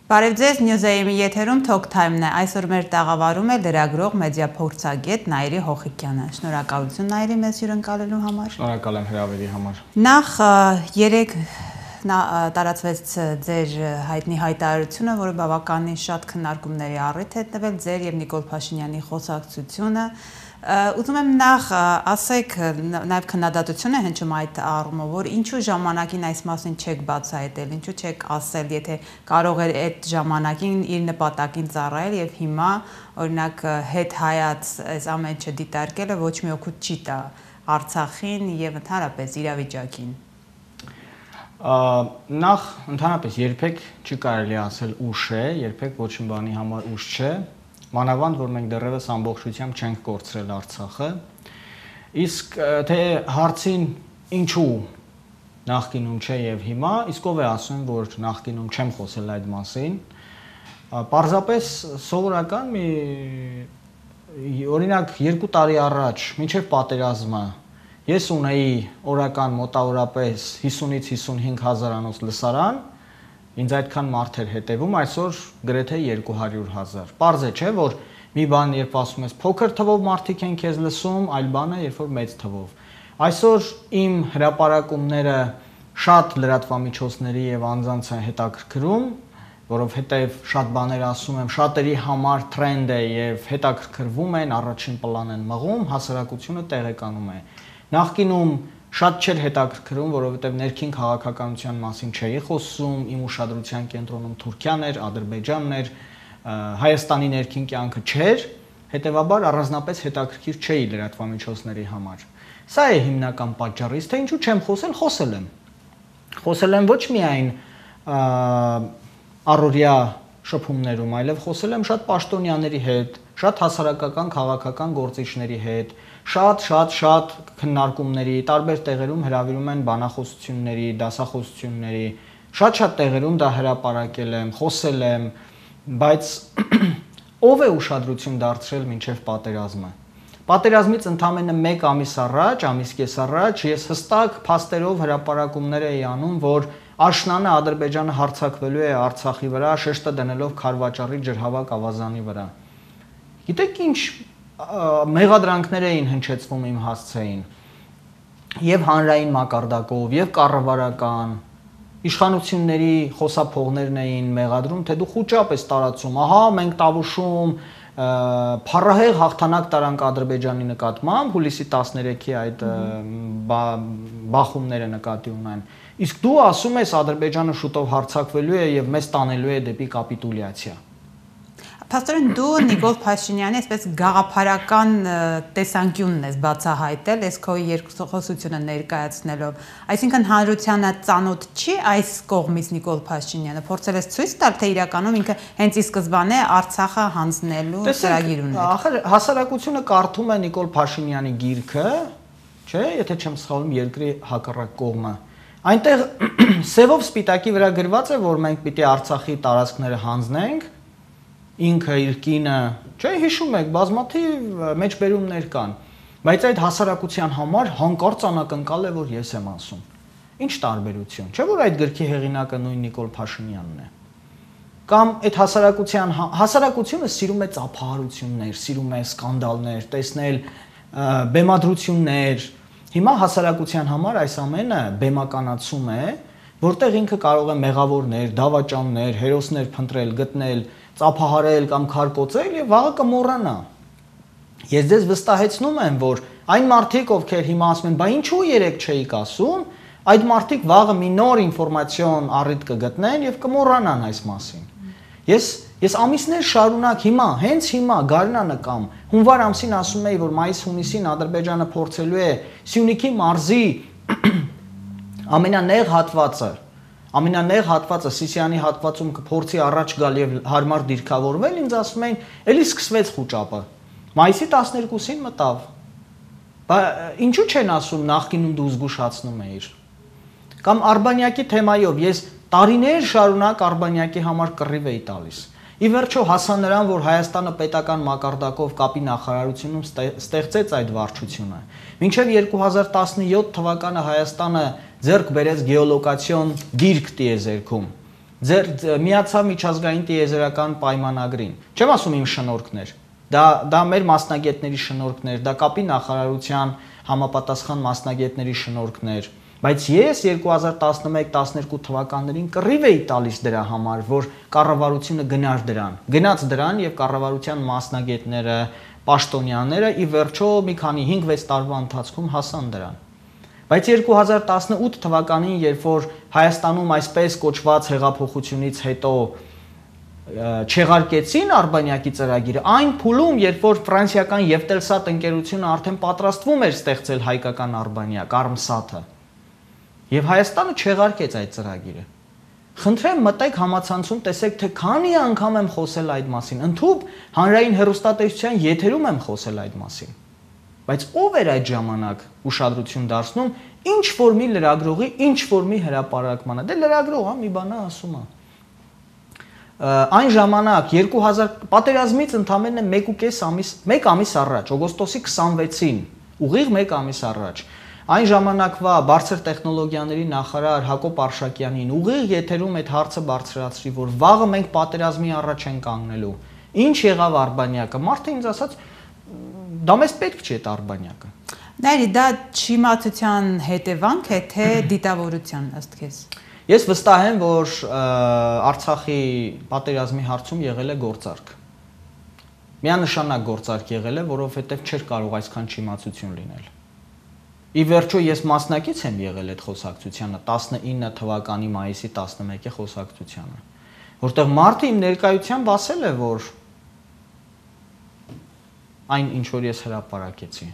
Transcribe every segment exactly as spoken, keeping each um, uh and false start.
Բարև ձեզ, Նյուզեյմի եթերում Talk Time-ն է, այսօր մեր տաղավարում է լրագրող մեդիա փորձագետ Նաիրի Հոխիկյանը։ Շնորհակալություն Նաիրի մեզ հյուրընկալելու համար։ Շնորհակալ եմ հրավերի համար։ Նախ երեք տարածվեց ձեր հայտնի հայտարարությունը, որը բավականին շատ քննարկումների առիթ է տվել, ձեր եւ Նիկոլ Փաշինյանի խոսակցությունը։ Ուզում եմ նախ ասեք, նաև քննադատություն է հնչում այդ առումով, որ ինչու ժամանակին այս մասին չեք բացահայտել, ինչու չեք ասել, եթե կարող էր այդ ժամանակին իր նպատակին ծառայել եւ հիմա օրինակ հետ հայաց այս ամեն ինչը դիտարկելը ոչ մի օգուտ չի տա Արցախին եւ ընդհանրապես իրավիճակին։ Նախ ընդհանրապես երբեք չի կարելի ասել ուշ է, երբեք ոչ մի բանի համար ուշ չէ։ Մանավանդ, որ մենք դեռևս ամբողջությամբ չենք կորցրել Արցախը, իսկ թե հարցին ինչու նախկինում չէ եւ հիմա, իսկ ով է ասում, որ նախկինում չեմ խոսել այդ մասին, պարզապես սովորական մի օրինակ երկու տարի առաջ, մինչեւ պատերազմը, ես ունեի օրական մոտավորապես հիսունից հիսունհինգ հազարանոց լսարան, ինձ այդքան մարդ էր հետևում, այսօր գրեթե երկու հարյուր հազար։ Պարզ է, չէ, որ մի բան երբ ասում ես փոքր թվով մարդիկ են քեզ լսում, այլ բան է, երբ որ մեծ թվով։ Այսօր իմ հրապարակումները շատ լրատվամիջոցների եւ անձանց են հետաքրքրում, որովհետեւ շատ բաներ ասում եմ, շատերի համար թրենդ է եւ հետաքրքրվում են, առաջին պլան են մղում, հասարակությունը տեղեկանում է։ Նախկինում շատ չէր հետաքրքրում, որովհետև ներքին քաղաքականության մասին չէի խոսում, իմ ուշադրության կենտրոնում Թուրքիան էր, Ադրբեջանն էր, Հայաստանի ներքին կյանքը չէր, հետևաբար առանձնապես հետաքրքիր չէի լրատվամիջոցների համար։ Սա է հիմնական պատճառը, թե ինչու չեմ խոսել, խոսել եմ։ Խոսել եմ ոչ միայն առօրյա շփումներում, այլև խոսել եմ շատ պաշտոնյաների հետ, շատ հասարակական քաղաքական գործիչների հետ, շատ շատ շատ քննարկումների, տարբեր տեղերում հրավիրում են բանախոսությունների, դասախոսությունների, շատ-շատ տեղերում դա հրապարակել եմ, խոսել եմ, բայց ով է ուշադրություն դարձրել մինչև պատերազմը։ Պատերազմից ընդամենը մեկ ամիս առաջ, ամիս կես առաջ ես հստակ փաստերով հրապարակումներ էի անում, որ աշնանը Ադրբեջանը հարձակվելու է Արցախի վրա, շեշտը դնելով Քարվաճառի ջրհավաք ավազանի վրա։ Գիտեք ինչ մեղադրանքներ էին հնչեցվում իմ հասցեին եւ հանրային մակարդակով եւ կառավարական իշխանությունների խոսափողներն էին մեղադրում, թե դու խոճապ ես տարածում, ահա մենք տավուշում փառահեղ հաղթանակ տարանք Ադրբեջանի նկատմամբ, հուլիսի տասներեքի այդ բախումները նկատի ունեն։ Իսկ դու ասում ես Ադրբեջանը շուտով հարձակվելու է եւ մեզ տանելու է դեպի կապիտուլյացիա։ Փաստորեն դու Նիկոլ Փաշինյանի այսպես գաղափարական տեսանկյունն ես բացահայտել, այս քո երկխոսությունը ներկայացնելով, այսինքն հանրությանը ծանոթ չի այս կողմից Նիկոլ Փաշինյանը, փորձել ես ցույց տալ, թե իրականում ինքը հենց ի սկզբանե Արցախը հանձնելու ծրագիր ուներ։ Ախր հասարակությունը կարդում է Նիկոլ Փաշինյանի գիրքը, չէ, եթե չեմ սխալվում, երկրի հակառակ կողմը։ Այնտեղ սևով սպիտակի վրա գրված է, որ մենք պիտի Արցախի տարածքները հանձնենք, ինքը իր կինը, չէ, հիշում եք, բազմաթիվ մեջբերումներ կան, բայց այդ հասարակության համար հանկարծ անակնկալ է, որ ես եմ ասում։ Ինչ տարբերություն, չէ՞ որ այդ գրքի հեղինակը նույն Նիկոլ Փաշինյանն է։ Կամ այդ հասարակության հասարակությունը սիրում է ծափահարություններ, սիրում է սկանդալներ, տեսնել բեմադրություններ։ Հիմա հասարակության համար այս ամենը բեմականացում է, որտեղ ինքը կարող է մեղավորներ, դավաճաններ, հերոսներ փնտրել, գտնել, ծափահարել կամ քարկոծել եւ վաղը կմոռանա։ Ես ձեզ վստահեցնում եմ, որ այն մարդիկ, ովքեր հիմա ասում են, բա ինչու երեք չէիք ասում, այդ մարդիկ վաղը մի նոր ինֆորմացիոն առիթ կգտնեն եւ կմոռանան այս մասին։ Ես ես ամիսներ շարունակ հիմա, հենց հիմա գարնանը կամ հունվար ամսին ասում էի, որ մայիս-հունիսին Ադրբեջանը փորձելու է Սյունիքի մարզի ամենանեղ հատվածը Ամենանեղ հատվածը Սիսիանի հատվածում կփորձի առաջ գալ եւ հարմար դիրքավորվել, ինձ ասում էին, էլի սկսվեց խոճապը։ Մայիսի տասներկուսին մտավ։ Բա ինչու չեն ասում նախկինում դու զգուշացնում էիր։ Կամ Արբանյակի թեմայով ես տարիներ շարունակ Արբանյակի համար կռիվ էի տալիս։ Ի վերջո հասա նրան, որ Հայաստանը պետական մակարդակով կապի նախարարությունում ստեղծեց այդ վարչությունը։ Մինչև երկու հազար տասնյոթ թվականը Հայաստանը ձեռք բերեց գեոլոկացիոն դիրք տիեզերքում։ Ձեր միացավ միջազգային տիեզերական պայմանագրին։ Չեմ ասում իմ շնորհքներ։ Դա դա մեր մասնագետների շնորհքներ, դա կապի նախարարության համապատասխան մասնագետների շնորհքներ, բայց ես երկու հազար տասնմեկ տասներկու թվականներին կռիվ էի տալիս դրա համար, որ կառավարությունը գնար դրան։ Գնաց դրան եւ կառավարության մասնագետները, պաշտոնյաները ի վերջո մի քանի հինգ-վեց տարվա ընթացքում հասան դրան։ Բայց երկու հազար տասնութ թվականին, երբ որ Հայաստանում այսպես կոչված հեղափոխությունից հետո չեղարկեցին Արբանյակի ծրագիրը, այն փուլում, երբ որ ֆրանսիական Եվտելսատ ընկերությունը արդեն պատրաստվում էր ստեղծել հայկական Արբանյակ, Արմսաթը, եւ Հայաստանը չեղարկեց այդ ծրագիրը։ Խնդրեմ մտեք համացանցում, տեսեք, թե քանի անգամ եմ խոսել այդ մասին, ընդհանուր հանրային հեռուստատեսության եթերում եմ խոսել այդ մասին։ Բայց ով էր այդ ժամանակ ուշադրություն դարձնում ինչ որ մի լրագրողի, ինչ որ մի հրապարակմանը։ Դե լրագրողը մի բան է ասում է։ Այն ժամանակ երկու հազար պատերազմից ընդամենը մեկ ու կես ամիս, մեկ ամիս առաջ, օգոստոսի քսանվեցին, ուղիղ մեկ ամիս առաջ, այն ժամանակվա բարձր տեխնոլոգիաների նախարար Հակոբ Արշակյանին ուղիղ եթերում այդ հարցը բարձրացրի, որ վաղը մենք պատերազմի առաջ ենք կանգնելու։ Ինչ եղավ Արբանյակը։ Մարդը ինձ ասաց, դա մեզ պետք չի այդ Արբանյակը։ Նայրի, դա չիմացության հետևանք է, թե դիտավորության ըստ քեզ։ Ես վստահ եմ, որ Արցախի պատերազմի հարցում եղել է գործարք։ Միանշանակ գործարք եղել է, որովհետև չէր կարող այսքան չիմացություն լինել։ Ի վերջո ես մասնակից եմ եղել այդ խոսակցությանը տասնինը թվականի մայիսի տասնմեկի խոսակցությանը, որտեղ մարդը իմ ներկայությամբ ասել է, որ այն ինչ որ ես հրապարակեցի։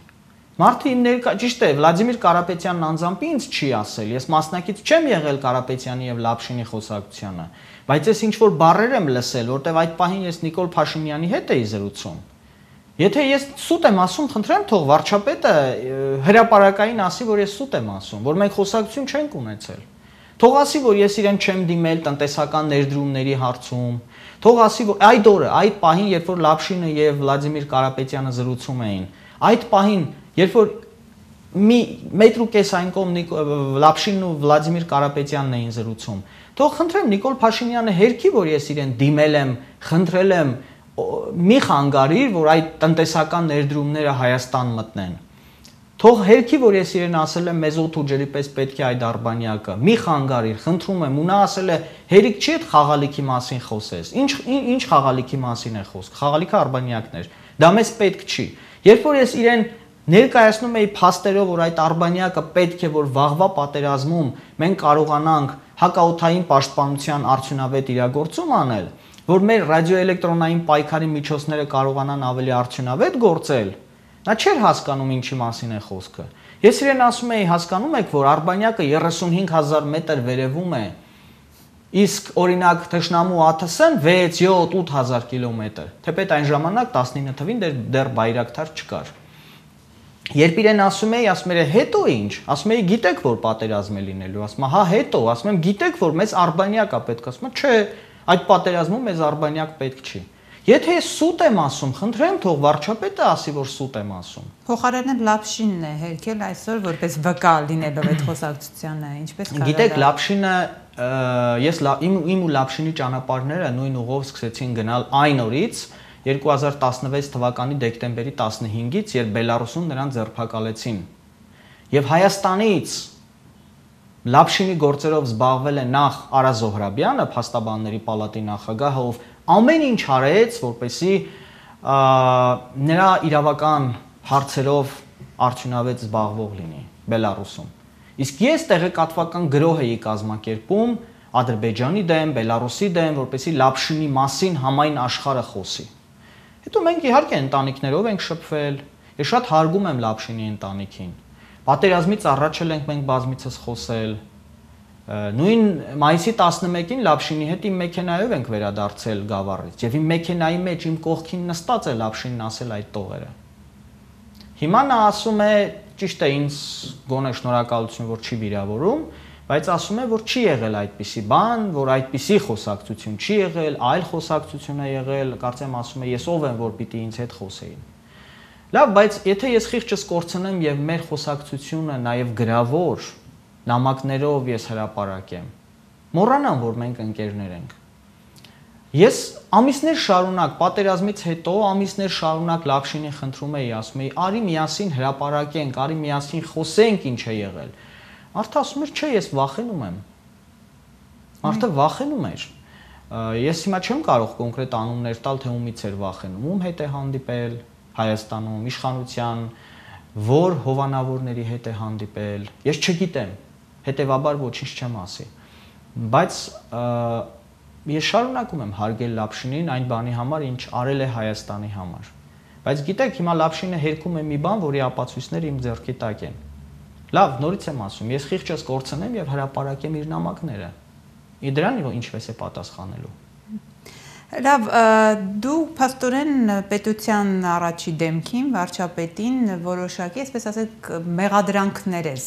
Մարդը իմ ներկա, ճիշտ է, Վլադիմիր Կարապետյանն անձամբ ինձ չի ասել, ես մասնակից չեմ եղել Կարապետյանի եւ Լապշինի խոսակցությանը, բայց ես ինչ որ բառեր եմ լսել, որտեղ այդ պահին ես Նիկոլ Փաշինյանի հետ էի զրուցում։ Եթե ես սուտ եմ ասում, խնդրեմ թող վարչապետը հրապարակային ասի, որ ես սուտ եմ ասում, որ մենք խոսակցություն չենք ունեցել։ Թող ասի, որ ես իրեն չեմ դիմել տնտեսական ներդրումների հարցում։ Թող ասի, որ այդ օրը, այդ պահին, երբ որ Լապշինը եւ Վլադիմիր Կարապետյանը զրուցում էին, այդ պահին, երբ որ մի մետր ու կես այն կողմ Լապշինն ու Վլադիմիր Կարապետյանն էին զրուցում, թող խնդրեմ Նիկոլ Փաշինյանը հերքի, որ ես իրեն դիմել եմ, խնդրել եմ, մի խանգարիր, որ այդ տնտեսական ներդրումները Հայաստան մտնեն։ Թող հերքի, որ ես իրեն ասել եմ մեզ օդ ու ջրի պես պետք է այդ Արբանյակը, մի խանգարիր, խնդրում եմ, ու նա ասել է հերիք չի այդ խաղալիքի մասին խոսես։ Ինչ ինչ խաղալիքի մասին է խոսք։ Խաղալիքը Արբանյակն էր։ Դա մեզ պետք չի։ Երբ որ ես իրեն ներկայացնում էի փաստերով, որ այդ Արբանյակը պետք է որ վաղվա պատերազմում մենք կարողանանք հակաօդային պաշտպանության արդյունավետ իրագործում անել, որ մեր ռադիոէլեկտրոնային պայքարի միջոցները կարողանան ավելի արդյունավետ գործել, նա չէր հասկանում ինչի մասին է խոսքը։ Ես իրեն ասում էի, հասկանում եք, որ Արբանյակը երեսունհինգ հազար մետր վերևում է, իսկ օրինակ Թշնամու ԱԹՍ-ն վեց, յոթ, ութ հազար կիլոմետր, թեպետ այն ժամանակ տասնինը թվին դեռ Բայրակթար չկար։ Երբ իրեն ասում էի, ասում էր հետո ինչ, ասում էի գիտեք որ պատերազմ է լինելու, ասում հա հետո, ասում եմ գիտեք որ մեզ Արբանյակ է պետք, ասում եմ չէ, այդ պատերազմում մեզ Արբանյակ պետք չի։ Եթե ես սուտ եմ ասում, խնդրեմ թող վարչապետը ասի, որ սուտ եմ ասում։ Փոխարենը Լապշինն է հերքել այսօր որպես վկա լինելով այդ խոսակցությանը, ինչպես կարելի։ Գիտեք, Լապշինը ես իմ իմ ու Լապշինի ճանապարհները նույն ուղով սկսեցին գնալ այն օրից, երկու հազար տասնվեց թվականի դեկտեմբերի տասնհինգից, երբ Բելարուսում նրան ձերբակալեցին։ Եվ Հայաստանից Լապշինի գործերով զբաղվել է նախ Արա Զոհրաբյանը, փաստաբանների պալատի նախագահը, ով ամեն ինչ արեց, որպեսզի նրա իրավական հարցերով արդյունավետ զբաղվող լինի Բելարուսում։ Իսկ ես տեղեկատվական գրոհ էի կազմակերպում Ադրբեջանի դեմ, Բելարուսի դեմ, որպեսզի Լապշինի մասին համայն աշխարհը խոսի։ Հետո մենք իհարկե ընտանիքներով ենք շփվել, ես շատ հարգում եմ Լապշինի ընտանիքին։ Պատերազմից առաջ էլ ենք մենք բազմիցս խոսել։ Նույն մայիսի տասնմեկին Լապշինի հետ իմ մեքենայով ենք վերադարձել Գավառից, եւ իմ մեքենայի մեջ իմ կողքին նստած է Լապշինն ասել այդ տողերը։ Հիմա նա ասում է, ճիշտ է, ինձ գոնե շնորհակալություն, որ չի վիրավորում, բայց ասում է, որ չի եղել այդպիսի բան, որ այդպիսի խոսակցություն չի եղել, այլ խոսակցություն է եղել, կարծեմ ասում է, ես ով եմ, որ պիտի ինձ հետ խոսեին։ Լավ, բայց եթե ես խիղճս կորցնեմ եւ մեր խոսակցությունը նաեւ գրավոր նամակներով ես հրապարակեմ, Մոռանան, որ մենք ընկերներ ենք։ Ես ամիսներ շարունակ պատերազմից հետո ամիսներ շարունակ Լապշինին խնդրում էի, ասում էի, արի միասին հրապարակենք, արի միասին խոսենք ինչ է եղել։ Մարդը ասում էր, չէ, ես վախենում եմ։ Մարդը վախենում էր։ Ես հիմա չեմ կարող կոնկրետ անուններ տալ, թե ումից էր վախենում, ում հետ է հանդիպել Հայաստանում, իշխանության, որ հովանավորների հետ է հանդիպել։ Ես չգիտեմ, հետևաբար ոչինչ չեմ ասի։ Բայց ես շարունակում եմ հարգել Լապշինին այն բանի համար, ինչ արել է Հայաստանի համար։ Բայց գիտեք, հիմա Լապշինը հերքում է մի բան, որի ապացույցները իմ ձեռքի տակ են։ Լավ, նորից եմ ասում, ես խիղճս կորցնեմ եւ հրապարակեմ իր նամակները։ Իդրան ինչպես է պատասխանելու։ Լավ, դու փաստորեն պետության առաջի դեմքին, վարչապետին որոշակի, այսպես ասենք, մեղադրանքներ ես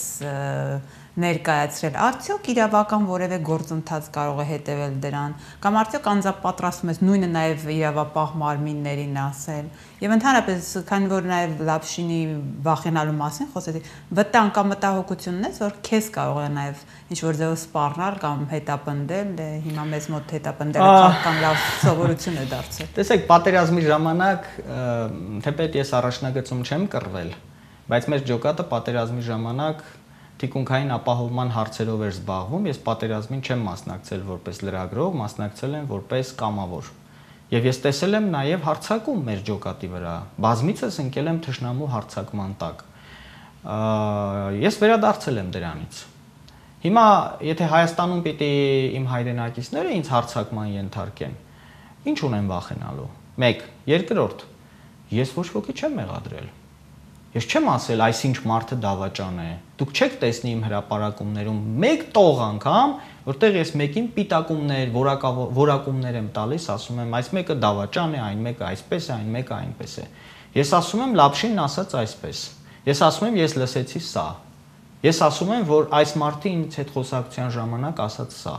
ներկայացրել, արդյոք իրավական որևէ գործընթաց կարող է հետևել դրան, կամ արդյոք անձապատրաստում ես նույնը նաև իրավապահ մարմիններին ասել, եւ ընդհանրապես, քանի որ նաև Լապշինի վախենալու մասին խոսեցի, վտանգ կամ մտահոգությունն ես, որ քեզ կարող է նաև ինչ-որ ձևով սպառնալ կամ հետապնդել, հիմա մեզ մոտ հետապնդելը քաղաքական լավ սովորություն է դարձել։ Տեսեք, պատերազմի ժամանակ, թեպետ ես առաջնագծում չեմ կռվել, բայց մեր ջոկատը պատերազմի ժամանակ թիկունքային ապահովման հարցերով էր զբաղվում, ես պատերազմին չեմ մասնակցել որպես լրագրող, մասնակցել եմ որպես կամավոր։ Եվ ես տեսել եմ նաև հարձակում մեր ջոկատի վրա, բազմիցս ընկել եմ թշնամու հարձակման տակ։ Ես վերադարձել եմ դրանից։ Հիմա, եթե Հայաստանում պիտի իմ հայրենակիցները ինձ հարձակման ենթարկեն, ինչ ունեմ վախենալու։ Մեկ, երկրորդ, ես ոչ ոքի չեմ մեղադրել։ Ես չեմ ասել, այսինչ մարդը դավաճան է։ Դուք չեք տեսնի իմ հրապարակումներում մեկ տող անգամ, որտեղ ես մեկին պիտակումներ, որակումներ եմ տալիս, ասում եմ, այս մեկը դավաճան է, այն մեկը այսպես է, այն մեկը այնպես է։ Ես ասում եմ, Լապշինն ասաց այսպես։ Ես ասում եմ, ես լսեցի սա։ Ես ասում եմ, որ այս մարդը ինձ հետ խոսակցության ժամանակ ասաց սա։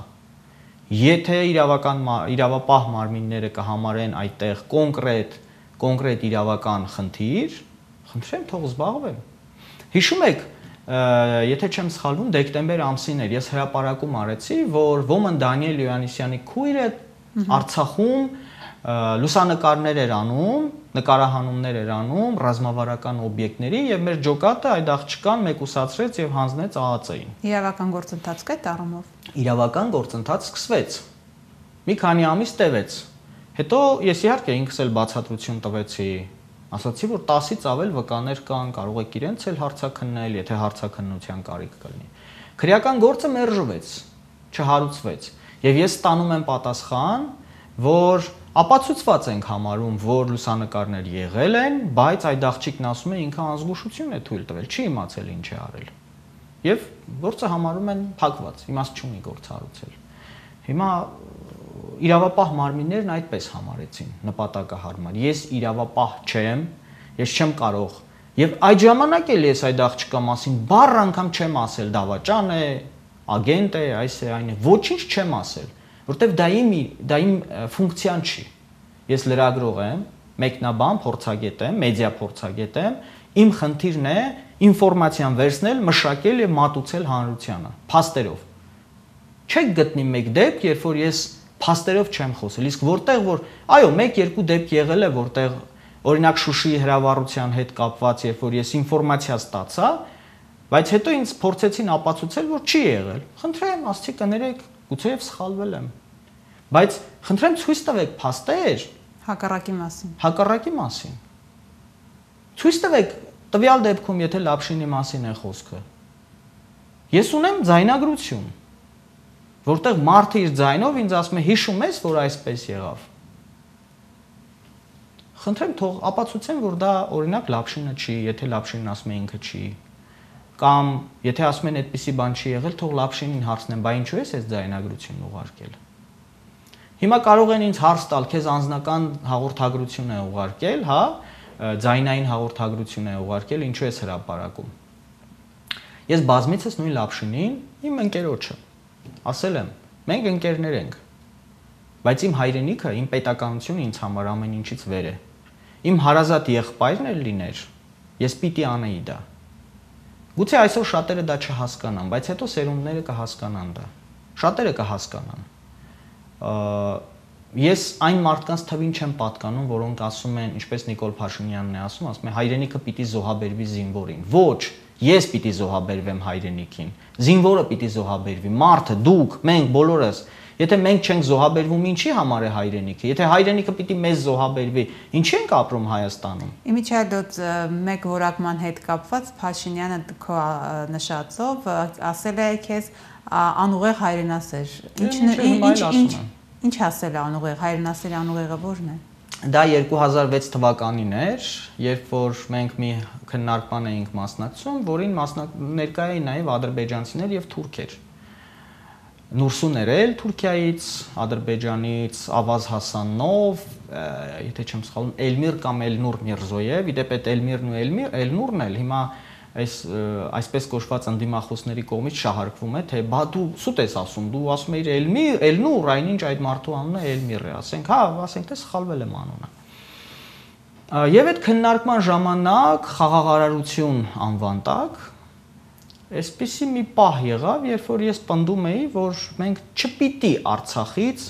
Եթե իրավական իրավապահ մարմինները կհամարեն այդտեղ կոնկրետ կոնկրետ իրավական խնդիր, խնդրեմ թող զբաղվեմ։ Հիշում եք, եթե չեմ սխալվում, դեկտեմբեր ամսին էր, ես հրապարակում արեցի, որ Ոմն Դանիել Յոհաննիսյանի քույրը Արցախում լուսանկարներ էր անում, նկարահանումներ էր անում ռազմավարական օբյեկտների եւ մեր ջոկատը այդ աղջկան մեկուսացրեց եւ հանձնեց ԱԱԾ-ին։ Իրավական գործընթաց կա այդ առումով։ Իրավական գործընթաց սկսվեց։ Մի քանի ամիս տևեց։ Հետո ես իհարկե ինքս էլ բացատրություն տվեցի, ասացի, որ տասից ավել վկաներ կան, կարող եք իրենց էլ հարցաքննել, եթե հարցաքննության կարիք կլինի։ Քրեական գործը մերժվեց, չհարուցվեց։ Եվ ես ստանում եմ պատասխան, որ ապացուցված ենք համարում, որ լուսանկարներ եղել են, բայց այդ աղջիկն ասում է ինքը անզգուշություն է թույլ տվել, չի իմացել ինչ է արել։ Եվ գործը համարում են փակված, իմաստ չունի գործ հարուցել։ Հիմա իրավապահ մարմիններն այդպես համարեցին նպատակահարմար։ Ես իրավապահ չեմ, ես չեմ կարող։ Եվ այդ ժամանակ էլ ես այդ աղջկա մասին բառ անգամ չեմ ասել, դավաճան է, ագենտ է, այս է, այն է, ոչինչ չեմ ասել, որտեվ դա իմ դա իմ ֆունկցիան չի։ Ես լրագրող եմ, մեկնաբան, փորձագետ եմ, մեդիա փորձագետ եմ, իմ խնդիրն է ինֆորմացիան վերցնել, մշակել եւ մատուցել հանրությանը, փաստերով։ Չեք գտնի մեկ դեպք, երբ որ ես փաստերով չեմ խոսել, իսկ որտեղ որ, այո, մեկ-երկու դեպք եղել է, որտեղ օրինակ Շուշիի հրավառության հետ կապված, երբ որ ես ինֆորմացիա ստացա, բայց հետո ինձ փորձեցին ապացուցել, որ չի եղել։ Խնդրեմ, աստծի կներեք, գուցեև սխալվել եմ։ Բայց խնդրեմ ցույց տվեք փաստեր հակառակի մասին։ Հակառակի մասին։ Ցույց տվեք տվյալ դեպքում, եթե Լապշինի մասին է խոսքը։ Ես ունեմ ձայնագրություն, որտեղ մարդը իր ձայնով ինձ ասում է, հիշում ես, որ այսպես եղավ։ Խնդրեմ թող ապացուցեն, որ դա օրինակ Լապշինը չի, եթե Լապշինն ասում է ինքը չի։ Կամ եթե ասում են այդպիսի բան չի եղել, թող Լապշինին հարցնեն, բա ինչու ես այս ձայնագրությունն ուղարկել։ Հիմա կարող են ինձ հարց տալ, քեզ անձնական հաղորդագրություն է ուղարկել, հա, ձայնային հաղորդագրություն է ուղարկել, ինչու ես հրապարակում։ Ես բազմիցս նույն Լապշինին, իմ ընկերոջը, ասել եմ, մենք ընկերներ ենք, բայց իմ հայրենիքը, իմ պետականությունը ինձ համար ամեն ինչից վեր է։ Իմ հարազատ եղբայրն էլ լիներ, ես պիտի անեի դա։ Գուցե այսօր շատերը դա չհասկանան, բայց հետո սերունդները կհասկանան դա։ Շատերը կհասկանան։ Ես այն մարդկանց թվին չեմ պատկանում, որոնք ասում են, ինչպես Նիկոլ Փաշինյանն է ասում, ասում է հայրենիքը պիտի զոհաբերվի զինվորին։ Ոչ, ես պիտի զոհաբերվեմ հայրենիքին։ Զինվորը պիտի զոհաբերվի, մարդը, դուք, մենք բոլորս։ Եթե մենք չենք զոհաբերվում, ինչի համար է հայրենիքը։ Եթե հայրենիքը պիտի մեզ զոհաբերվի, ինչի ենք ապրում Հայաստանում։ Իմիջիայլոց մեկ որակման հետ կապված Փաշինյանը քո նշածով ասել է քեզ անուղեղ հայրենասեր։ Ինչ Ինչ ասել է անուղեղ, հայրենասերի անուղեղը ո՞րն է։ Դա երկու հազար վեց թվականին էր, երբ որ մենք մի քննարկման էինք մասնակցում, որին ներկայ էին նաև ադրբեջանցիներ եւ թուրքեր։ Նուրսուներ էլ Թուրքիայից, Ադրբեջանից Ավազ Հասանով, եթե չեմ սխալվում, Էլմիր կամ Էլնուր Միրզոյև, իդեպ այդ Էլմիրն ու Էլմիր, Էլնուրն էլ հիմա այս այսպես կոչված ընդդիմախոսների կողմից շահարկվում է, թե բա դու սուտ ես ասում, դու ասում ես Էլմիր, Էլնուր, այնինչ այդ մարդու անունը Էլմիր է, ասենք, հա, ասենք թե սխալվել եմ անունը։ Եվ այդ քննարկման ժամանակ խաղաղարարություն անվան տակ այսպիսի մի պահ եղավ, երբ որ ես պնդում էի, որ մենք չպիտի Արցախից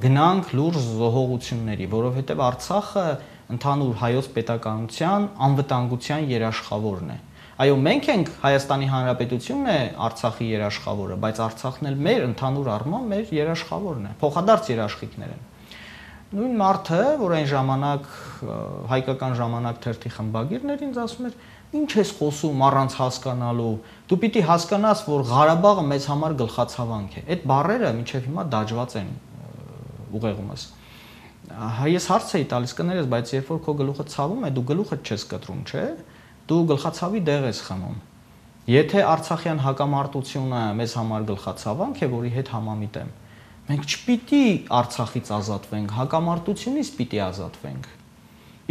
գնանք լուրջ զոհողությունների, որովհետև Արցախը ընդհանուր հայոց պետականության անվտանգության երաշխավորն է։ Այո, մենք ենք Հայաստանի Հանրապետությունն է Արցախի երաշխավորը, բայց Արցախն էլ մեր ընդհանուր առմամբ մեր երաշխավորն է, փոխադարձ երաշխիքներ են։ Նույն մարդը, որ այն ժամանակ հայկական ժամանակ թերթի խմբագիրներ ինձ ասում էր, ինչ ես խոսում առանց հասկանալու, դու պիտի հասկանաս, որ Ղարաբաղը մեզ համար գլխացավանք է։ Այդ բառերը մինչև հիմա դաջված են ուղեղումս։ Ես հարց էի տալիս կներես, բայց երբ որ քո գլուխը ցավում է, դու գլուխը չես կտրում, չէ՞։ Դու գլխացավի դեղ ես խմում։ Եթե Արցախյան հակամարտությունը մեզ համար գլխացավանք է, որի հետ համամիտ եմ, մենք չպիտի Արցախից ազատվենք, հակամարտությունից պիտի ազատվենք։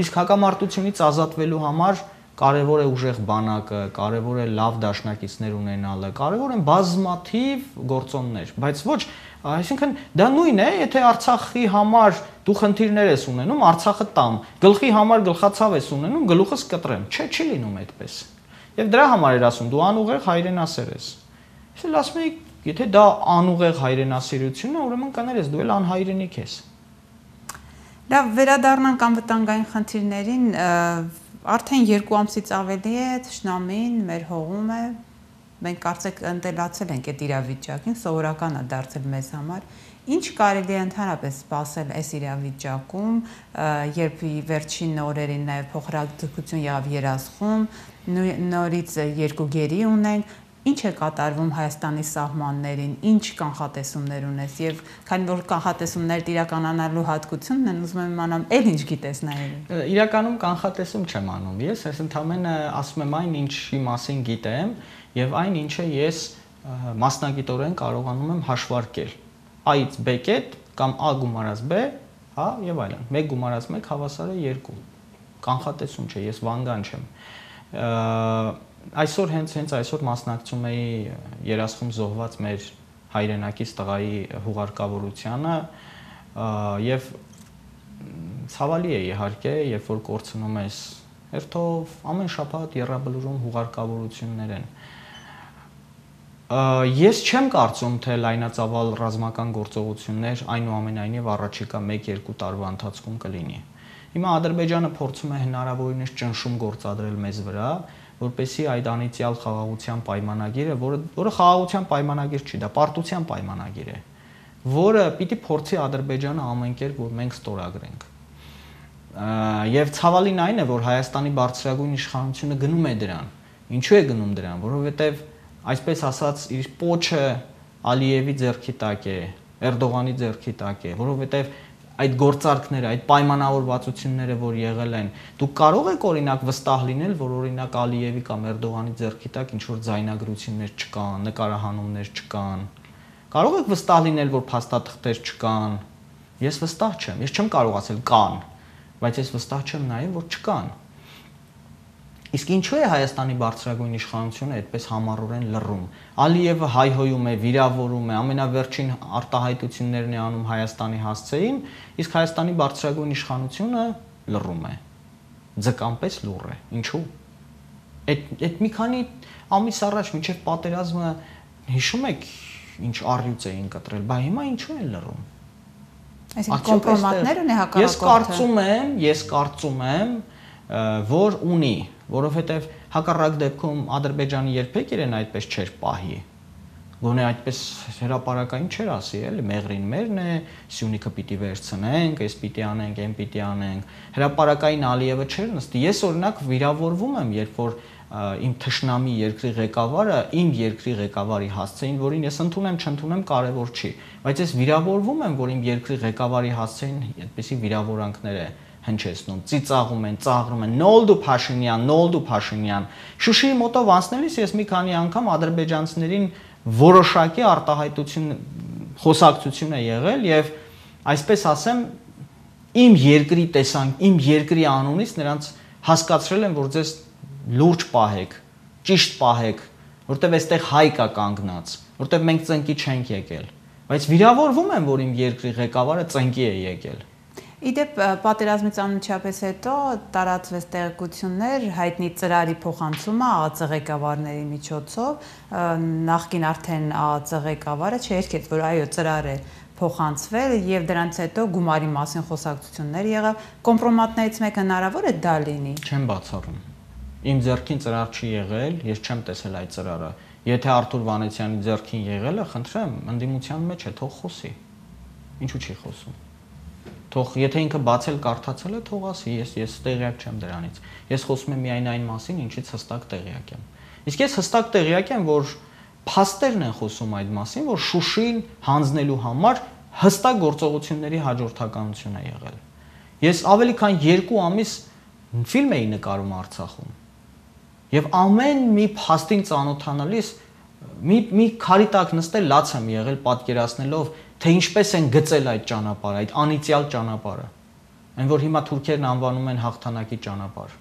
Իսկ հակամարտությունից ազատվելու համար կարևոր է ուժեղ բանակը, կարևոր է լավ դաշնակիցներ ունենալը, կարևոր են բազմաթիվ գործոններ, բայց ոչ, այսինքն դա նույնն է, եթե Արցախի համար դու խնդիրներ ես ունենում, Արցախը տամ, գլխի համար գլխացավ ես ունենում, գլուխս կտրեմ, չէ, չի լինում այդպես։ Եվ դրա համար էր ասում, դու անուղեղ հայրենասեր ես։ Ես էլ ասում եի, եթե դա անուղեղ հայրենասիրություն է, ուրեմն կներես, դու էլ անհայրենիք ես։ Լավ, վերադառնանք անվտանգային խնդիրներին, արդեն երկու ամսից ավելի է թշնամին մեր հողում է, մենք կարծեք ընտելացել ենք այդ իրավիճակին, սովորական է դարձել մեզ համար, ինչ կարելի է ընդհանրապես սպասել այս իրավիճակում, երբ վերջին օրերին նաև փոխհրաձգություն եղավ Երասխում, նորից երկու գերի ունենք, ինչ է կատարվում Հայաստանի սահմաններին, ինչ կանխատեսումներ ունես եւ քանի որ կանխատեսումները իրականանալու հատկությունն են, ուզում եմ իմանամ, ել ինչ գիտես նայել։ Իրականում կանխատեսում չեմ անում, ես ես ընդհանրապես ասում եմ այն, ինչի մասին գիտեմ եւ այն, ինչը ես մասնագիտորեն կարողանում եմ հաշվարկել։ A-ից B կետ կամ A գումարած B, հա, եւ այլն։ մեկ գումարած մեկ հավասար է երկու։ Կանխատեսում չէ, ես վանգան չեմ։ Այսօր հենց հենց այսօր մասնակցում էի Երասխում զոհված մեր հայրենակից տղայի հուղարկավորությանը եւ ցավալի է իհարկե, երբ որ կորցնում ես հերթով ամեն շաբաթ եռաբլուրում հուղարկավորություններ են։ Ես չեմ կարծում, թե լայնածավալ ռազմական գործողություններ այնուամենայնիվ առաջիկա մեկ-երկու տարվա ընթացքում կլինի։ Հիմա Ադրբեջանը փորձում է հնարավորինս ճնշում գործադրել մեզ վրա, որպեսզի այդ անիծյալ խաղաղության պայմանագիրը, որը որը խաղաղության պայմանագիր չի, դա պարտության պայմանագիր է, որը պիտի փորձի Ադրբեջանը ամեն կերպ, որ մենք ստորագրենք։ Եվ ցավալին այն է, որ Հայաստանի բարձրագույն իշխանությունը գնում է դրան։ Ինչու է գնում դրան, որովհետև այսպես ասած իր պոչը Ալիևի ձեռքի տակ է, Էրդողանի ձեռքի տակ է, որովհետև այդ գործարքները, այդ պայմանավորվածությունները, որ եղել են, դուք կարող եք օրինակ վստահ լինել, որ օրինակ Ալիևի կամ Էրդողանի ձեռքի տակ ինչ որ ձայնագրություններ չկան, նկարահանումներ չկան։ Կարող եք վստահ լինել, որ փաստաթղթեր չկան։ Ես վստահ չեմ, ես չեմ կարող ասել կան, բայց ես վստահ չեմ նաև, որ չկան։ Իսկ ինչու է Հայաստանի բարձրագույն իշխանությունը այդպես համառորեն լռում։ Ալիևը հայհոյում է, վիրավորում է, ամենավերջին արտահայտություններն է անում Հայաստանի հասցեին, իսկ Հայաստանի բարձրագույն իշխանությունը լռում է։ Ձկամպես լուռ է։ Ինչու՞։ Այդ այդ մի քանի ամիս առաջ մինչև պատերազմը հիշում եք ինչ առյուծ էին կտրել, բա հիմա ինչու են լռում։ Այսինքն կոմպրոմատներ ունի հակառակորդը։ Ես կարծում եմ, ես կարծում եմ, որ ունի, որովհետև հակառակ դեպքում Ադրբեջանը երբեք իրեն այդպես չէր պահի։ Գոնե այդպես հրապարակային չէր ասի, էլի մեղրին մերն է, Սյունիքը պիտի վերցնենք, այս պիտի անենք, այն պիտի անենք։ Հրապարակային Ալիևը չէր նստի։ Ես օրինակ վիրավորվում եմ, երբ որ իմ թշնամի երկրի ղեկավարը իմ երկրի ղեկավարի հասցեին, որին ես ընդունեմ, չընդունեմ, կարևոր չի, բայց ես վիրավորվում եմ, որ իմ երկրի ղեկավարի հասցեին այդպիսի վիրավորանքներ է հնչեցնում, ծիծաղում են, ծաղրում են, նոլդու Փաշինյան, նոլդու Փաշինյան։ Շուշիի մոտով անցնելիս ես մի քանի անգամ ադրբեջանցիներին որոշակի արտահայտություն խոսակցություն է եղել եւ այսպես ասեմ իմ երկրի տեսանք, իմ երկրի անունից նրանց հասկացրել եմ, որ ձեզ լուրջ պահեք, ճիշտ պահեք, որտեվ այստեղ հայ կա կանգնած, որտեվ մենք ծնկի չենք եկել, բայց վիրավորվում եմ, որ իմ երկրի ղեկավարը ծնկի է եկել։ Իդեպ պատերազմից անմիջապես հետո տարածվեց տեղեկություններ հայտնի ծրարի փոխանցումը ԱԱԾ ղեկավարների միջոցով, նախկին արդեն ԱԱԾ ղեկավարը չերկեց, որ այո ծրար է փոխանցվել եւ դրանից հետո գումարի մասին խոսակցություններ եղավ, կոմպրոմատներից մեկը հնարավոր է դա լինի։ Չեմ բացառում։ Իմ ձեռքին ծրար չի եղել, ես չեմ տեսել այդ ծրարը։ Եթե Արթուր Վանեցյանի ձեռքին եղել է, խնդրեմ, ընդդիմության մեջ է, թող խոսի։ Ինչու չի խոսում։ Թող եթե ինքը բացել կարդացել է, թող ասի, ես ես տեղյակ չեմ դրանից։ Ես խոսում եմ միայն այն մասին, ինչից հստակ տեղյակ եմ։ Իսկ ես հստակ տեղյակ եմ, որ փաստերն են խոսում այդ մասին, որ Շուշին հանձնելու համար հստակ գործողությունների հաջորդականություն է եղել։ Ես ավելի քան երկու ամիս ֆիլմ էի նկարում Արցախում։ Եվ ամեն մի փաստին ծանոթանալիս մի մի քարի տակ նստել լաց եմ եղել պատկերացնելով, թե ինչպես են գծել այդ ճանապարհը, այդ անիծյալ ճանապարհը, այն որ հիմա թուրքերն անվանում են հաղթանակի ճանապարհ։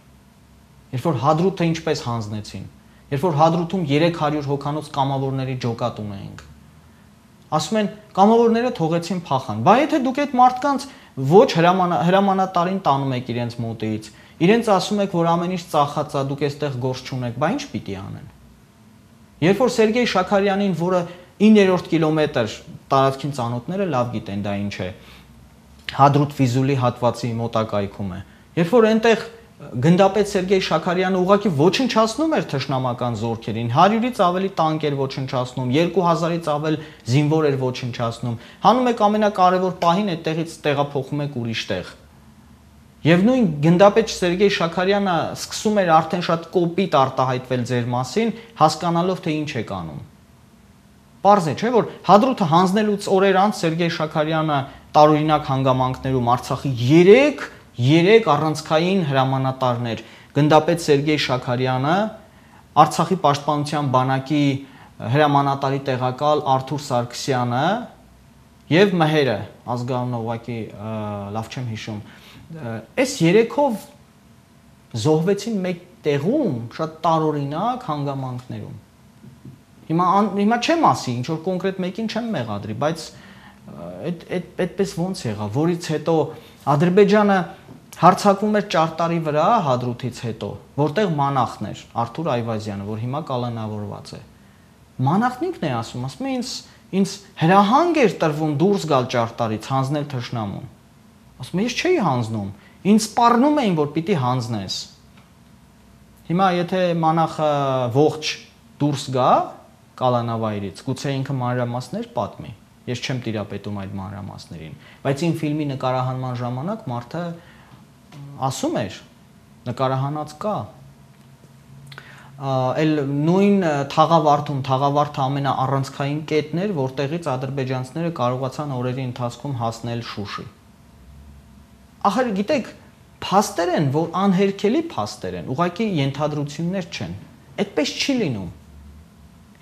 Երբ որ Հադրութը ինչպես հանձնեցին, երբ որ Հադրութում երեք հարյուր հոգանոց կամավորների ջոկատ ունեինք։ Ասում են կամավորները թողեցին փախան։ Բա եթե դուք այդ մարդկանց ոչ հրամանատարին տանում եք իրենց մոտից, իրենց ասում եք, որ ամեն ինչ ծախած է, դուք այստեղ գործ չունեք, բա ինչ պիտի անեն։ Երբ որ Սերգեյ Շաքարյանին, որը իններորդ կիլոմետր տարածքին ծանոթները լավ գիտեն դա ինչ է, Հադրութ-Ֆիզուլի հատվածի մոտակայքում է։ Երբ որ այնտեղ գնդապետ Սերգեյ Շաքարյանը ուղղակի ոչնչացնում էր թշնամական զորքերին, հարյուրից ավելի տանկ էր ոչնչացնում, երկու հազարից ավել զինվոր էր ոչնչացնում, հանում եք ամենակարևոր պահին այդտեղից տեղափոխում եք ուրիշ տեղ։ Եվ նույն գնդապետ Սերգեյ Շաքարյանը սկսում էր արդեն շատ կոպիտ արտահայտվել ձեր մասին, հասկանալով թե ինչ եք անում։ Պարզ է, չէ՞ որ Հադրութը հանձնելուց օրեր անց Սերգեյ Շաքարյանը տարօրինակ հանգամանքներում Արցախի երեք երեք առանցքային հրամանատարներ, գնդապետ Սերգեյ Շաքարյանը, Արցախի պաշտպանության բանակի հրամանատարի տեղակալ Արթուր Սարգսյանը եւ Մհերը, ազգանունը ուղղակի լավ չեմ հիշում, այս երեքով զոհվեցին մեկ տեղում շատ տարօրինակ հանգամանքներում։ Հիմա հիմա չեմ ասի, ինչ որ կոնկրետ մեկին չեմ մեղադրի, բայց այդ այդ այդպես ոնց եղավ, որից հետո Ադրբեջանը հարձակվում էր Ճարտարի վրա Հադրութից հետո, որտեղ մանախն էր Արթուր Այվազյանը, որ հիմա կալանավորված է։ Մանախն ինքն է ասում, ասում է ինձ ինձ հրահանգ էր տրվում դուրս գալ Ճարտարից, հանձնել թշնամուն։ Ասում եմ, ես չէի հանձնում, ինձ սպառնում էին, որ պիտի հանձնես։ Հիմա եթե մանախը ողջ դուրս գա կալանավայրից, գուցե ինքը մանրամասներ պատմի։ Ես չեմ տիրապետում այդ մանրամասներին, բայց իմ ֆիլմի նկարահանման ժամանակ մարդը ասում էր, նկարահանած կա։ Էլ նույն Թաղավարտում, Թաղավարտը ամենաառանցքային կետն էր, որտեղից ադրբեջանցիները կարողացան օրերի ընթացքում հասնել Շուշի։ Ախր գիտեք, փաստեր են, որ անհերքելի փաստեր են, ուղղակի ենթադրություններ չեն։ Այդպես չի լինում։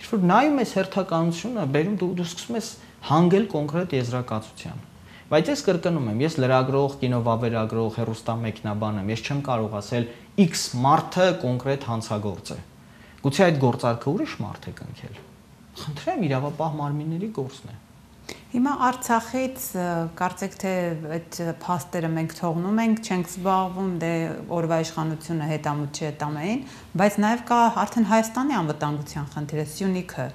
Երբ որ նայում ես հերթականությունը, բերում դու դու սկսում ես հանգել կոնկրետ եզրակացության։ Բայց ես կրկնում եմ, ես լրագրող, կինովավերագրող, հեռուստամեքենաբան եմ, ես չեմ կարող ասել X մարդը կոնկրետ հանցագործ է։ Գուցե այդ գործարքը ուրիշ մարդ է կնքել։ Խնդրեմ, իրավապահ մարմինների գործն է։ Հիմա Արցախից կարծեք թե այդ փաստերը մենք թողնում ենք, չենք զբաղվում, դե օրվա իշխանությունը հետամուտ չի հետամային, բայց նաև կա արդեն Հայաստանի անվտանգության խնդիրը, Սյունիքը։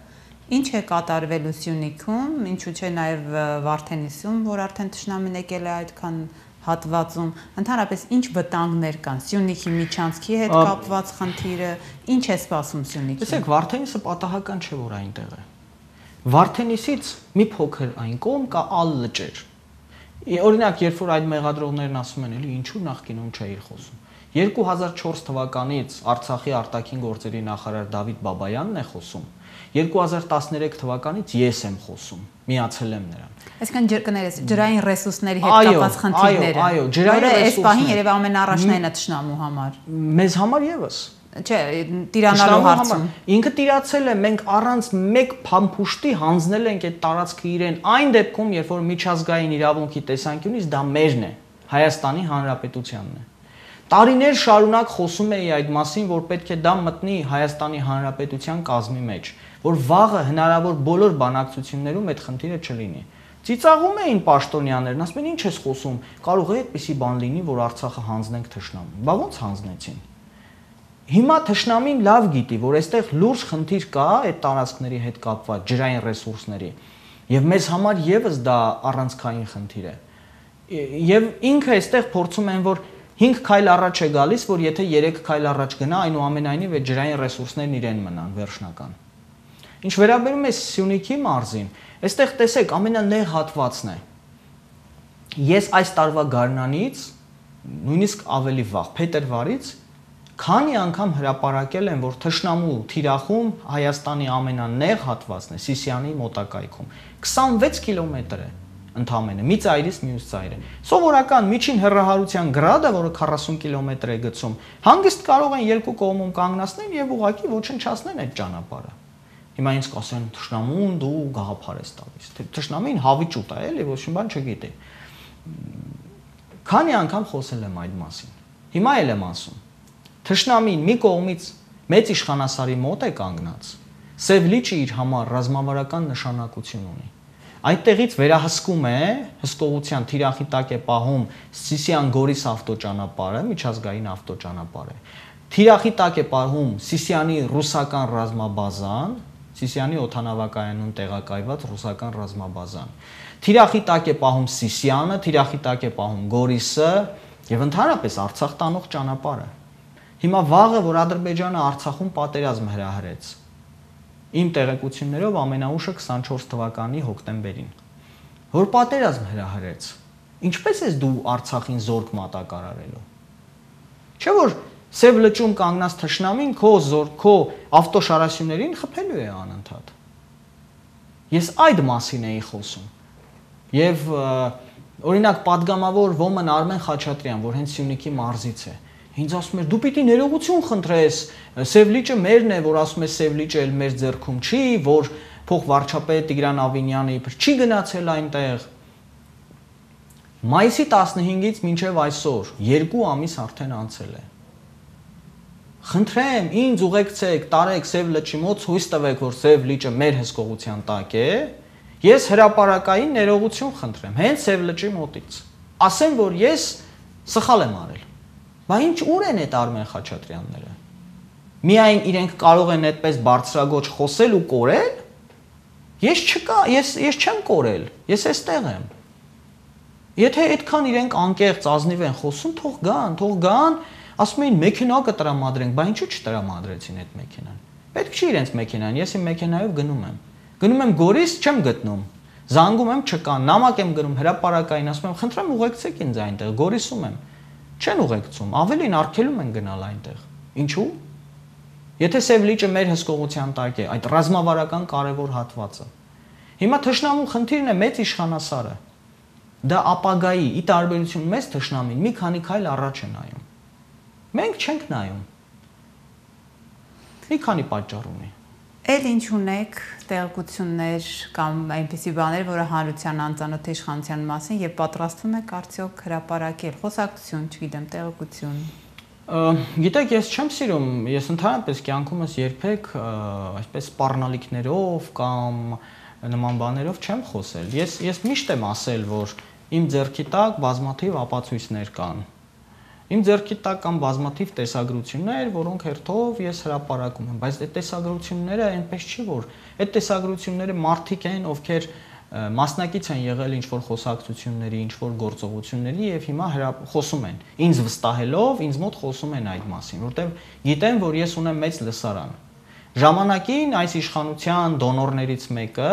Ինչ է կատարվելու Սյունիքում, ինչու՞ չէ նաև Վարդենիսում, որ արդեն թշնամին եկել է այդքան հատվածում, ընդհանրապես ինչ վտանգներ կան Սյունիքի միջանցքի հետ կապված խնդիրը, ինչ է սպասում Սյունիքին։ Տեսեք, Վարդենիսը պատահական չէ, որ այնտեղ է։ Վարդենիսից մի փոքր այն կողմ կա ալ լճեր։ Օրինակ, երբ որ այդ մեղադրողներն ասում են, էլի ինչու նախկինում չէի խոսում։ երկու հազար չորս թվականից Արցախի արտաքին գործերի նախարար Դավիթ Բաբայանն է խոսում։ երկու հազար տասներեք թվականից ես եմ խոսում, միացել եմ նրան։ Այսինքն կներես ջրային ռեսուրսների հետ կապված խնդիրները։ Այո, այո, ջրային ռեսուրսները։ Այս պահին երևի ամենառաջնային է թշնամու համար։ Մեզ համար եւս։ Չէ, տիրանալու հարցում։ Ինքը տիրացել է, մենք առանց մեկ փամփուշտի հանձնել ենք այդ տարածքը իրեն, այն դեպքում, երբ որ միջազգային իրավունքի տեսանկյունից դա մերն է, Հայաստանի Հանրապետությանն է։ Տարիներ շարունակ խոսում էի այդ մասին, որ պետք է դա մտնի Հայաստանի Հանրապետության կազմի մեջ, որ վաղը հնարավոր բոլոր բանակցություններում այդ խնդիրը չլինի։ Ծիծաղում էին պաշտոնյաներն, ասում են ինչ ես խոսում, կարող է այդպիսի բան լինի, որ Արցախը հանձնենք թշնամուն։ Բա ո՞նց հանձնեցին։ Հիմա թշնամին լավ գիտի, որ այստեղ լուրջ խնդիր կա այդ տարածքների հետ կապված ջրային ռեսուրսների, եւ մեզ համար եւս դա առանցքային խնդիր է։ Եվ ինքը այստեղ փորձում են, որ հինգ քայլ առաջ է գալիս, որ եթե երեք քայլ առաջ գնա, այնուամենայնիվ այդ ջրային ռեսուրսներն իրեն մնան վերջնական։ Ինչ վերաբերում է Սյունիքի մարզին, այստեղ տեսեք, ամենանեղ հատվածն է։ Ես այս տարվա գարնանից, նույնիսկ ավելի վաղ, փետրվարից, քանի անգամ հրապարակել եմ, որ թշնամու թիրախում Հայաստանի ամենանեղ հատվածն է, Սիսիանի մոտակայքում, քսանվեց կիլոմետր է ընդամենը, մի ծայրից մյուս ծայրը։ Սովորական միջին հեռահարության գրադը, որը քառասուն կիլոմետր է գցում, հանգիստ կարող են երկու կողմում կանգնացնել եւ ուղղակի ոչնչացնել այդ ճանապարհը։ Հիմա ինձ կասեն թշնամուն դու գաղափար ես տալիս։ Թշնամին հավիճուտ է, էլի ոչ մի բան չգիտի։ Քանի անգամ խոսել եմ այդ մասին։ Հիմա էլ եմ ասում։ Թշնամին մի կողմից մեծ իշխանասարի մոտ է կանգնած, Սև լիճը իր համար ռազմավարական նշանակություն ունի։ Այդտեղից վերահսկում է, հսկողության թիրախի տակ է պահում Սիսիան-Գորիս ավտոճանապարհը, միջազգային ավտոճանապարհը։ Թիրախի տակ է պահում Սիսիանի ռուսական ռազմաբազան, Սիսիանի օդանավակայանում տեղակայված ռուսական ռազմաբազան։ Թիրախի տակ է պահում Սիսիանը, թիրախի տակ է պահում Գորիսը եւ ընդհանրապես Արցախ տանող ճանապարհը։ Հիմա վաղը, որ Ադրբեջանը Արցախում պատերազմ հրահրեց, իմ տեղեկություններով ամենաուշը քսանչորս թվականի հոկտեմբերին, որ պատերազմ հրահրեց, ինչպես ես դու Արցախին զորք մատակարարելու։ Չէ՞ որ Սև լճում կանգնած թշնամին քո զոր, քո ավտոշարասյուներին խփելու է անընդհատ։ Ես այդ մասին էի խոսում։ Եվ օրինակ падգամավոր ոմն Արմեն Խաչատրյան, որ հենց Սյունիքի մարզից է, ինձ ասում էր դու պիտի ներողություն խնդրես, Սև լիճը մերն է, որ ասում է Սև լիճը էլ մեր ձեռքում չի, որ փոխվարչապետ Տիգրան Ավինյանը իբր չի գնացել այնտեղ։ Մայիսի տասնհինգից մինչև այսօր երկու ամիս արդեն անցել է։ Խնդրեմ, ինձ ուղեկցեք, տարեք Սև լճի մոտ, հույս տվեք, որ Սև լիճը մեր հսկողության տակ է։ Ես հրապարակային ներողություն խնդրեմ, հենց Սև լճի մոտից։ Ասեմ, որ ես սխալ եմ արել։ Բա ինչ ուր են այդ Արմեն Խաչատրյանները։ Միայն իրենք կարող են այդպես բարձրագոչ խոսել ու կորել։ Ես չկա, ես ես չեմ կորել, ես էստեղ եմ։ Եթե այդքան իրենք անկեղծ ազնիվ են խոսում, թող գան, թող գան, ասում էին մեքենա կտրամադրենք, բա ինչու չտրամադրեցին այդ մեքենան։ Պետք չի իրենց մեքենան, ես իմ մեքենայով գնում եմ։ Գնում եմ Գորիս, չեմ գտնում։ Զանգում եմ չկա, նամակ եմ գրում հրապարակային, ասում եմ, խնդրեմ ուղեկցեք ինձ այնտեղ, Գորիսում եմ։ Չեն ուղեկցում, ավելին արգելում են գնալ այնտեղ։ Ինչու՞։ Եթե Սև լիճը մեր հսկողության տակ է, այդ ռազմավարական կարևոր հատվածը։ Հիմա թշնամու խնդիրն է մեծ իշխանասարը։ Դա ապագայի ի տարբերություն մեծ թշնամին մի քանի քայլ առաջ է նայում։ Մենք չենք նայում։ Մի քանի պատճառ ունի։ Էլ ինչ ունեք տեղեկություններ կամ այնպիսի բաներ, որը հանրության անծանոթ իշխանության մասին եւ պատրաստվում եք արդյոք հրապարակել, խոսակցություն, չգիտեմ, տեղեկություն։ Գիտեք, ես չեմ սիրում, ես ընդհանրապես կյանքումս երբեք այսպես սպառնալիքներով կամ նման բաներով չեմ խոսել։ Ես ես միշտ եմ ասել, որ իմ ձեռքի տակ բազմաթիվ ապացույցներ կան։ Իմ ձեռքի տակ կան բազմաթիվ տեսագրություններ, որոնք հերթով ես հրապարակում եմ, բայց այդ տեսագրությունները այնպես չի, որ այդ տեսագրությունները մարդիկ են, ովքեր մասնակից են եղել ինչ-որ խոսակցությունների, ինչ-որ գործողությունների եւ հիմա խոսում են։ Ինձ վստահելով, ինձ մոտ խոսում են այդ մասին, որտեղ գիտեն, որ ես ունեմ մեծ լսարան։ Ժամանակին այս իշխանության դոնորներից մեկը,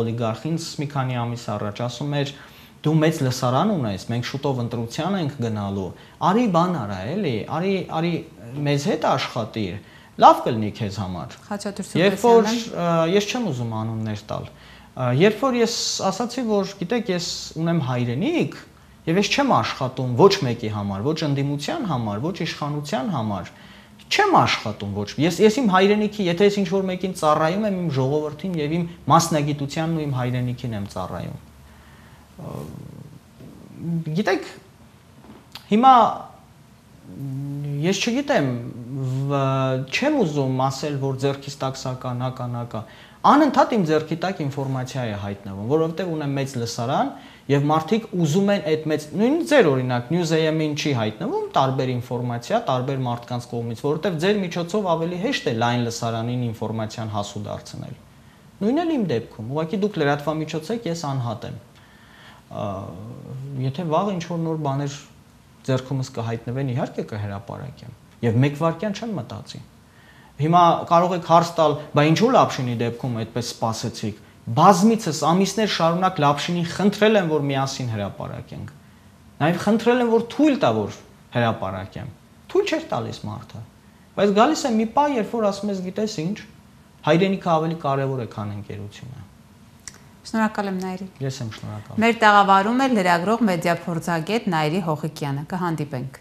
օլիգարխին մի քանի ամիս առաջ ասում էր. «Դու մեծ լսարան ունես, մենք շուտով ընտրության ենք գնալու, արի բան արա, էլի, արի, արի մեզ հետ աշխատիր, լավ կլինի քեզ համար»։ Երբ որ ես չեմ ուզում անուններ տալ, երբ որ ես ասացի, որ գիտեք, ես ունեմ հայրենիք եւ ես չեմ աշխատում ոչ մեկի համար, ոչ ընդդիմության համար, ոչ իշխանության համար, չեմ աշխատում ոչ։ Ես ես իմ հայրենիքի, եթե ես ինչ-որ մեկին ծառայում եմ, իմ ժողովրդին եւ իմ մասնագիտությանն ու իմ հայրենիքին եմ ծառայում։ Գիտեք, հիմա ես չգիտեմ, չեմ ուզում ասել, որ ձեռքից տակ սա կա, նա կա, նա կա։ Անընդհատ իմ ձեռքի տակ ինֆորմացիա է հայտնվում, որովհետեւ ունեմ մեծ լսարան եւ մարդիկ ուզում են այդ մեծ, նույն ձեր օրինակ News.am-ին չի հայտնվում տարբեր ինֆորմացիա, տարբեր մարդկանց կողմից, որովհետեւ ձեր միջոցով ավելի հեշտ է լայն լսարանին ինֆորմացիան հասու դարձնել։ Նույնն էլ իմ դեպքում, ուղղակի դուք լրատվամիջոց եք, ես անհատ եմ։ Եթե վաղ ինչ-որ նոր բաներ ձեռքումս կհայտնվեն, իհարկե կհրապարակեմ եւ մեկ վայրկյան չեմ մտածի։ Հիմա կարող եք հարց տալ, բա ինչու Լապշինի դեպքում այդպես սպասեցիք։ Բազմիցս ամիսներ շարունակ Լապշինին խնդրել եմ, որ միասին հրապարակենք։ Նաեւ խնդրել եմ, որ թույլ տա, որ հրապարակեմ։ Թույլ չէր տալիս մարդը։ Բայց գալիս է մի պահ, երբ որ ասում ես, գիտես ինչ, հայրենիքը ավելի կարեւոր է, քան ընկերությունը։ Շնորհակալ եմ Նայիրի։ Ես եմ շնորհակալ։ Մեր տաղավարում է լրագրող մեդիափորձագետ Նայիրի Հողիկյանը։ Կհանդիպենք։